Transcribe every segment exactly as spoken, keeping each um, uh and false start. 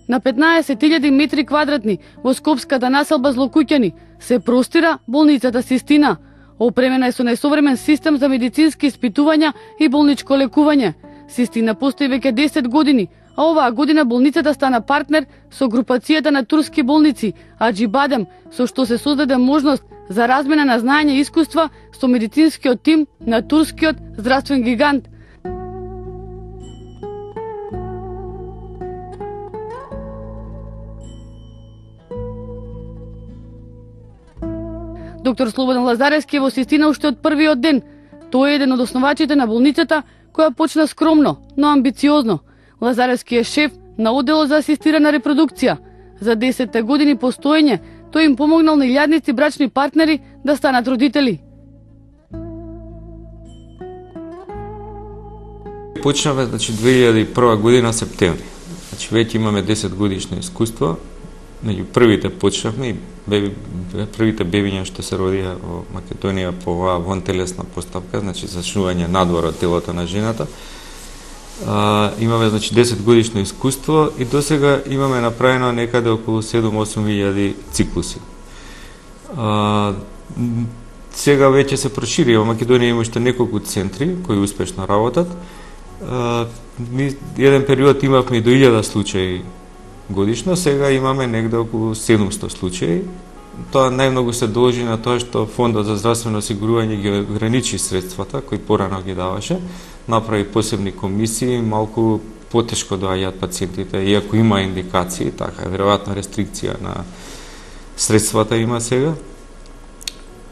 На петнаесет илјади метри квадратни во скопската населба Злокуќани се простира болницата Систина. Опремена е со најсовремен систем за медицински испитувања и болничко лекување. Систина постои веќе десет години, а оваа година болницата стана партнер со групацијата на турски болници Аџибадем, со што се создаде можност за размена на знаење и искуства со медицинскиот тим на турскиот здравствен гигант. Доктор Слободан Лазаревски е во Систина уште од првиот ден. Тој е еден од основачите на болницата, која почна скромно, но амбициозно. Лазаревски е шеф на одделот за асистирана репродукција. За десетте години постоење, тој им помогнал на илјадници брачни партнери да станат родители. Почнавме, значи, две илјади и прва година септември. Значи, веќе имаме десет годишно искуство. Меѓу првите почнавме и беби, првите бебиња што се родија во Македонија по оваа вонтелесна постапка, значи зачнување надвор од телото на жената. А, имаме, значи, десет годишно искуство и досега имаме направено некаде околу седум-осум илјади циклуси. А, сега веќе се прошири, во Македонија има уште неколку центри кои успешно работат. А, ми, еден период имавме и до илјада случаи годишно, сега имаме негде околу седумсто случаи. Тоа најмногу се должи на тоа што Фондот за здравствено осигурување ги ограничи средствата кои порано ги даваше, направи посебни комисии, малку потешко доаѓаат пациентите, иако има индикации, така веројатно рестрикција на средствата има сега.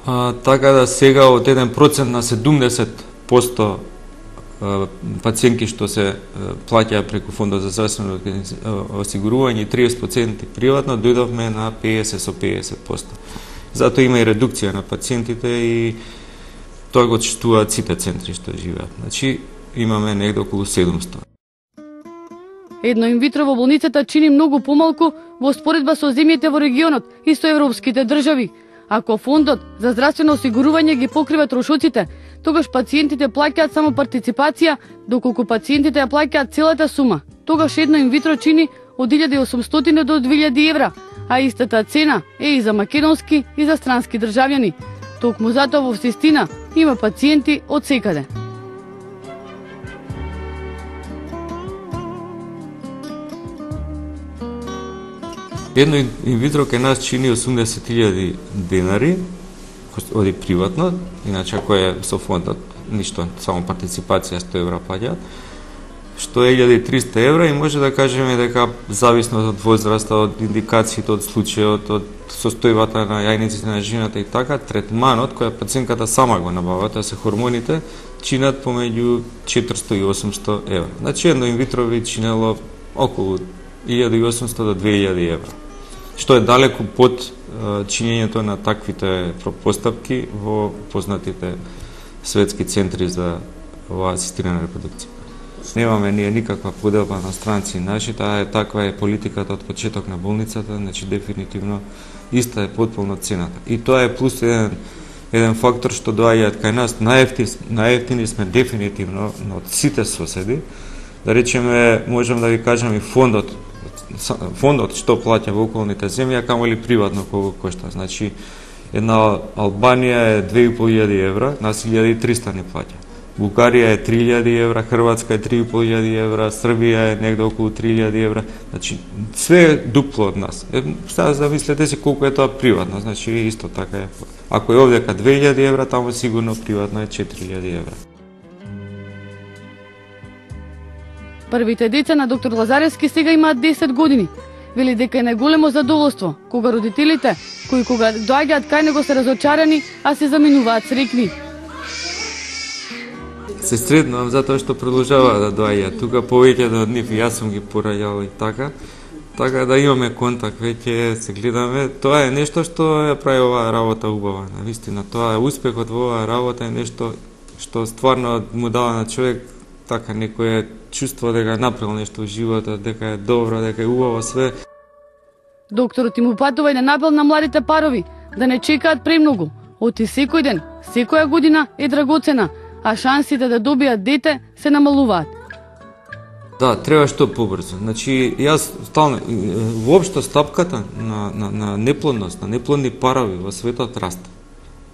А, така да сега од еден процент на седумдесет проценти пациентки што се плаќаат преку Фондот за здравствено осигурување и триесет проценти приватно, дојдовме на педесет со педесет проценти. Затоа има и редукција на пациентите и тоа го чувствуваат сите центри што живеат. Значи, имаме негде околу седумсто. Едно инвитро во болницата чини многу помалку во споредба со земјите во регионот и со европските држави. Ако Фондот за здравствено осигурување ги покрива трошоците, тогаш пациентите плаќаат само партиципација, доколку пациентите ја плаќаат целата сума. Тогаш едно инвитро чини од илјада и осумстотини до две илјади евра, а истата цена е и за македонски и за странски државјани. Токму затоа во Систина има пациенти од секаде. Едно инвитро кај нас чини осумдесет илјади денари, оди приватно, иначе кој е со фондот, ништо, само партиципација сто евра плаќаат, што е илјада и триста евра и може да кажеме дека зависно од возраста, од индикациите, од случајот, од состојбата на јајниците на жената и така, третманот која пациентката сама го набава, тоа се хормоните, чинат помеѓу четиристо и осумсто евра. Значи едно инвитро ви чинело околу илјада и осумсто до две илјади евра, што е далеку под uh, чинењето на таквите пропостапки во познатите светски центри за оваа асистирана репродукција. Немаме ние никаква поделба на странци наши, таа е таква е политиката од почеток на болницата, значи дефинитивно иста е потполно цената. И тоа е плюс еден, еден фактор што доаѓаат кај нас, најефтини, најефтини сме дефинитивно од сите соседи. Да речеме, можам да ви кажам и фондот, фондот што плаќа во околните земји, а камо ли приватно колку кошта. Значи, една Албанија е две и пол илјади евра, нас илјада и триста не плаќа. Бугарија е три илјади евра, Хрватска е три и пол илјади евра, Србија е негде околу три илјади евра. Значи, све е дупло од нас. Е, сега замислете си колку е тоа приватно, значи исто така е. Ако е овдека две илјади евра, таму сигурно приватно е четири илјади евра. Првите деца на доктор Лазаревски сега имаат десет години. Вели дека е најголемо задоволство кога родителите, кои кога доаѓаат кај него се разочарани, а се заминуваат среќни. Се сретнувам затоа што продолжава да доаѓа тука повеќето од нив, јас сум ги пораѓал и така. Така да имаме контакт, веќе се гледаме. Тоа е нешто што ја прави оваа работа убава. Навистина, тоа е успехот во оваа работа е нешто што стварно му дава на човек така некое чувство дека направил нешто во животот, дека е добро, дека е убаво све. Докторот им упатува и на напел на младите парови да не чекаат премногу. Оти секој ден, секоја година е драгоцена, а шансите да добијат дете се намалуваат. Да, треба што побрзо. Значи, јас стално, воопшто стапката на, на, на неплодност, на неплодни парови во светот расте.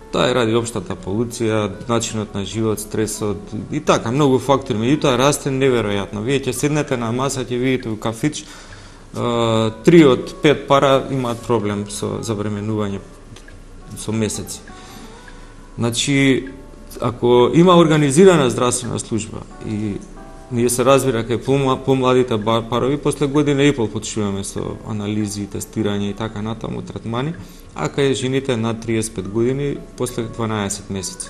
Таа е ради општата полуција, начинот на живот, стресот и така, многу фактори. Меѓутоа расте неверојатно. Вие ќе седнете на маса, ќе видите у кафич, три од пет пара имаат проблем со забременување со месеци. Значи, ако има организирана здравствена служба и ние се разбира кај помладите парови, после година и пол почнуваме со анализи, тестирање и така натаму, третмани, а кај жените над триесет и пет години, после дванаесет месеци.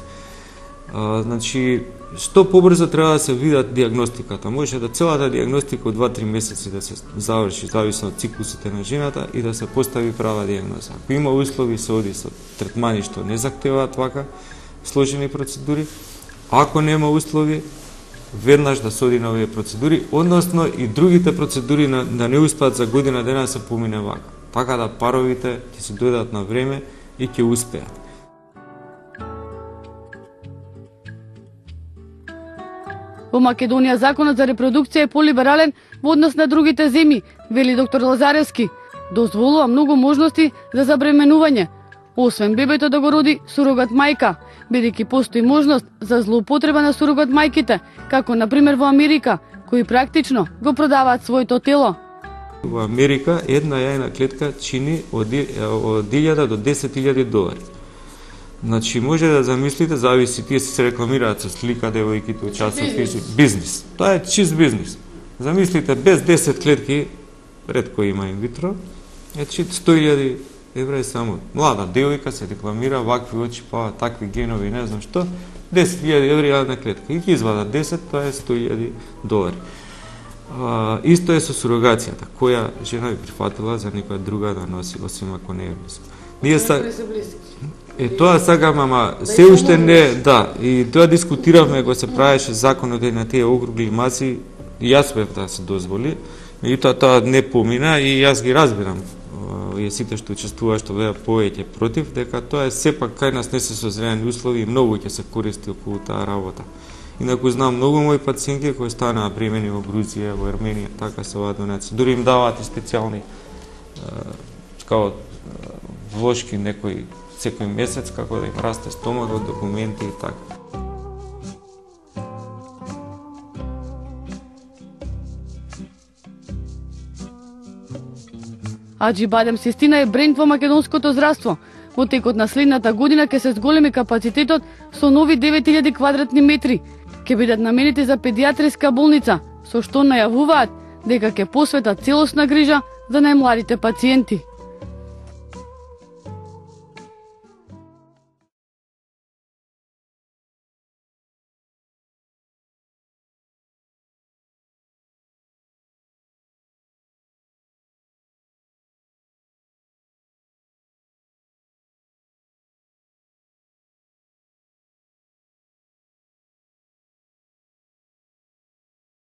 А, значи, што побрзо треба да се видат диагностиката. Може да целата диагностика од два-три месеци да се заврши, зависно од циклусите на жената и да се постави права диагноза. Ако има услови, се оди со третмани што не захтеваат вака сложени процедури. Ако нема услови, веднаш да се оди на овие процедури, односно и другите процедури на, да не успеат за година дена да се помине вака. Така да паровите ќе се дојдат на време и ќе успеат. Во Македонија законот за репродукција е полиберален во однос на другите земји, вели доктор Лазаревски. Дозволува многу можности за забременување, освен бебето да го роди сурогат мајка, бидејќи постои можност за злоупотреба на сурогат мајките, како на пример во Америка, кои практично го продаваат своето тело. Во Америка една јајна клетка чини од илјада до десет илјади долари. Значи, може да замислите, зависи, тие се рекламираат со слика, девојките од часописи, бизнис. Тоа е чист бизнис. Замислите, без десет клетки, ретко има инвитро, е чит сто илјади евра само. Млада девојка се рекламира, вакви очи, па такви генови, не знам што, десет илјади евра јадна клетка. И ги извада десет, тоа е сто илјади долари. А, исто е со сурогацијата, која жена би прифатила за некоја друга да носи, освен ако не е близко. Ние са... Е, тоа сакам, ама се уште не, да, и тоа дискутиравме кога се правеше законот на тие округли маси, и јас бев да се дозволи, меѓутоа тоа не помина и јас ги разбирам, и сите што учествуваат, што беа повеќе против, дека тоа е сепак кај нас не се созрени услови и многу ќе се користи околу таа работа. Инаку знам многу мои пациенти кои станаа бремени во Грузија, во Арменија, така се оваа донација. Дури им даваат и специјални као влошки некои секој месец како да им расте стомагот, документи и така. Аџи Бадем Систина е бренд во македонското здравство. Во текот на следната година ќе се зголеми капацитетот со нови девет илјади квадратни метри. Ќе бидат наменети за педиатриска болница, со што најавуваат дека ќе посветат целосна грижа за најмладите пациенти.